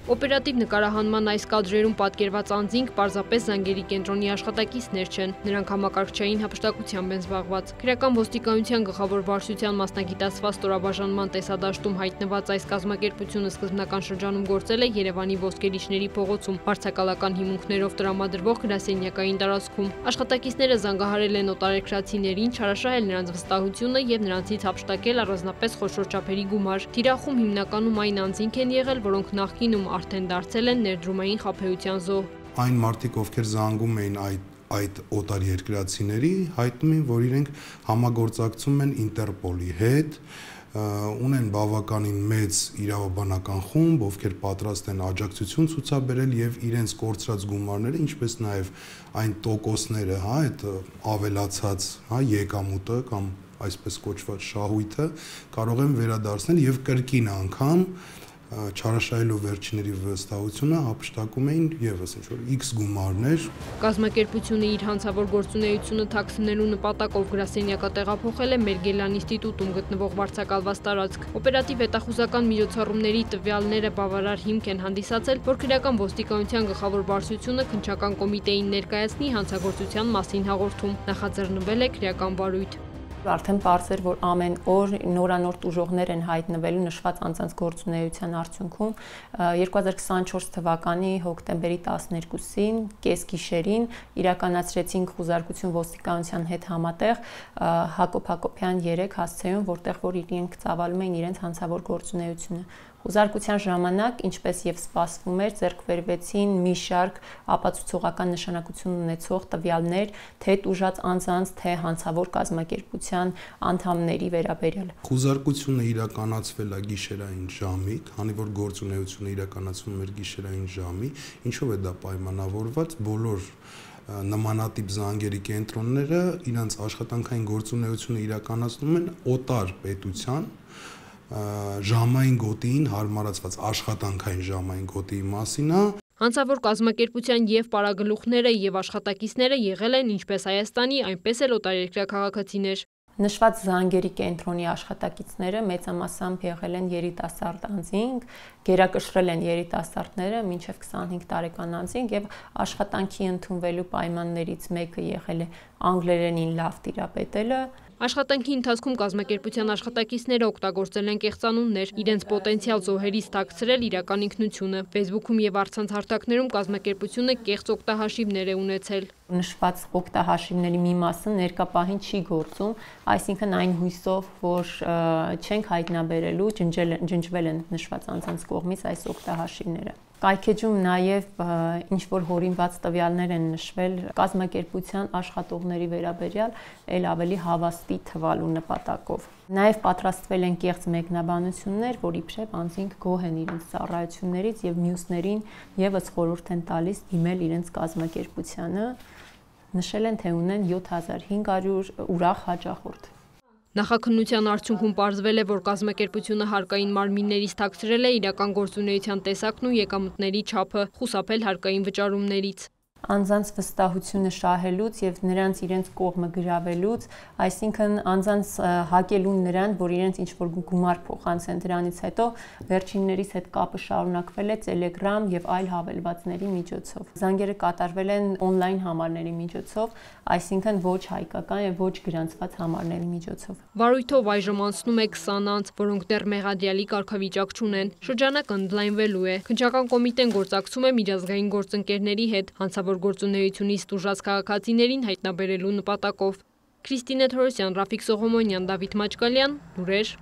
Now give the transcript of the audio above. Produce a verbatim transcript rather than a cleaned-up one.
Օպերատիվ նկարահանման այս կադրերում պատկերված անձինք պարզապես զանգերի կենտրոնի աշխատակիցներ չեն, նրանք համակարգչային հափշտակությամբ են զբաղված։ Քրեական ոստիկանության գլխավոր վարչության մասնագիտացված ստորաբաժանման տեսադաշտում հայտնված այս կազմակերպությունը սկզբնական շրջանում գործել է Երևանի Ոսկերիչների փողոցում, վարձակալական հիմունքներով տրամադրվող գրասենյակային տարածքում։ Աշխատակիցները զանգահարել են օտարերկրացիներին, չարաշահել նրանց վստահությունը եւ նրանցից հափշտակել առանձնապես խոշոր չափերի գումար։ Թիրախում հիմնականում այն անձինք են եղել, որոնք նախկինում արդեն դարձել են ներդրումային խաբեության զոհ։ Այն մարդիկ, ովքեր զանգում էին այդ այդ օտարերկրացիների, հայտնում են, որ իրենք համագործակցում են Ինտերպոլի հետ, ունեն բավականին մեծ իրավաբանական խումբ, ովքեր պատրաստ են աջակցություն ցուցաբերել եւ իրենց կորցրած գումարները, ինչպես նաեւ այն տոկոսները, հա, այդ ավելացած, հա, եկամուտը կամ այսպես կոչված շահույթը կարող են վերադարձնել եւ կրկին անգամ չարաշահելով վերջինների վստահությունը հափշտակում էին եւս ինչ-որ X գումարներ։ Կազմակերպությունը իր հանցավոր գործունեությունը թաքցնելու նպատակով գրասենյակը տեղափոխել է Մերգելյան ինստիտուտում գտնվող վարձակալված տարածք։ Օպերատիվ հետախուզական միջոցառումների տվյալները բավարար հիմք են հանդիսացել, որ քրեական ոստիկանության գլխավոր վարչությունը քննչական կոմիտեին ներկայացնի հանցագործության մասին հաղորդում։ Նախաձեռնվել է քրեական վարույթ։ Արդեն պարզ էր, որ ամեն օր նորանոր տուժողներ են հայտնվելու նշված անձանց գործունեության արդյունքում։ երկու հազար քսանչորս թվականի հոկտեմբերի տասներկուսին կեսգիշերին իրականացրեցինք խուզարկություն ոստիկանության հետ համատեղ Հակոբ Հակոբյան երեք հասցեում, որտեղ որ իրենք ծավալում էին իրենց հանցավոր գործունեությունը։ Խուզարկության ժամանակ, ինչպես եւ սպասվում էր, ձեռք բերվեցին մի շարք ապացուցողական նշանակություն ունեցող տվյալներ, թե տուժած անձանց, թե հանցավոր կազմակերպության անդամների վերաբերյալ։ Խուզարկությունը իրականացվել է գիշերային ժամի, քանի որ գործունեությունը իրականացվում էր գիշերային ժամի, ինչով է դա պայմանավորված, բոլոր նմանատիպ զանգերի կենտրոնները իրենց աշխատանքային գործունեությունը իրականացնում են օտար պետության ժամային գոտիին հարմարացված աշխատանքային ժամային գոտիի մասին է։ Հանցավոր կազմակերպության եւ պարագլուխները եւ աշխատակիցները եղել են ինչպես Հայաստանի, այնպես էլ օտարերկրյա քաղաքացիներ։ Նշված զանգերի կենտրոնի աշխատակիցները մեծամասամբ եղել են երիտասարդ անձինք, գերակշռել են երիտասարդները մինչև քսանհինգ տարեկան անձինք եւ աշխատանքի ընդունվելու պայմաններից մեկը եղել է անգլերենին լավ տիրապետելը։ Աշխատանքի ընթացքում կազմակերպության աշխատակիցները օգտագործել են կեղծանուններ, իրենց պոտենցիալ զոհերից թաքցրել իրական ինքնությունը։ Facebook-ում եւ առցանց հարթակներում կազմակերպությունը կեղծ օգտահաշիվներ է ունեցել։ Նշված օգտահաշիվների մի մասը ներկա պահին չի գործում, այսինքն այն հույսով, որ չենք հայտնաբերելու, ջնջվել են նշված անձանց կողմից այս օգտահաշիվները։ Կայքեջում նաև ինչ-որ հորինված տվյալներ են նշվել կազմակերպության աշխատողների վերաբերյալ էլ ավելի հավաստի թվալու նպատակով։ Նաև պատրաստվել են կեղծ մեկնաբանություններ, որ իբրև անձինք գոհ են իրենց ծառայություններից եւ մյուսներին եւս խորհուրդ են տալիս դիմել իրենց կազմակերպությանը, նշել են, թե ունեն յոթ հազար հինգ հարյուր ուրախ հաճախորդ։ Նախաքննության արդյունքում պարզվել է, որ կազմակերպությունը հարկային մարմիններից թաքցրել է իրական գործունեության տեսակն ու եկամուտների չափը, խուսափել հարկային վճարումներից։ Անձանց վստահությունը շահելուց եւ նրանց իրենց կողմը գրավելուց, այսինքն անձանց հակելուն նրան, որ իրենց ինչ-որ գումար փոխանցեն, դրանից հետո վերջիններից հետ կապը շարունակվել է Telegram եւ այլ հավելվածների միջոցով։ Զանգերը կատարվել են on-line համարների միջոցով, այսինքն ոչ հայկական եւ ոչ գրանցված համարների միջոցով։ Վարույթով այժմ անցնում է քսան անձ, որոնք դեռ մեղադրյալի կարգավիճակ չունեն։ Շրջանակը ընդլայնվելու է։ Քննչական կոմիտեն գործակցում է միջազգային գործընկերների հետ հանցավոր գործունեությունից տուժած քաղաքացիներին հայտնաբերելու նպատակով։ Քրիստինե Թորոսյան, Ռաֆիկ Սողոմոնյան, Դավիթ Մաչկալյան, լուրեր։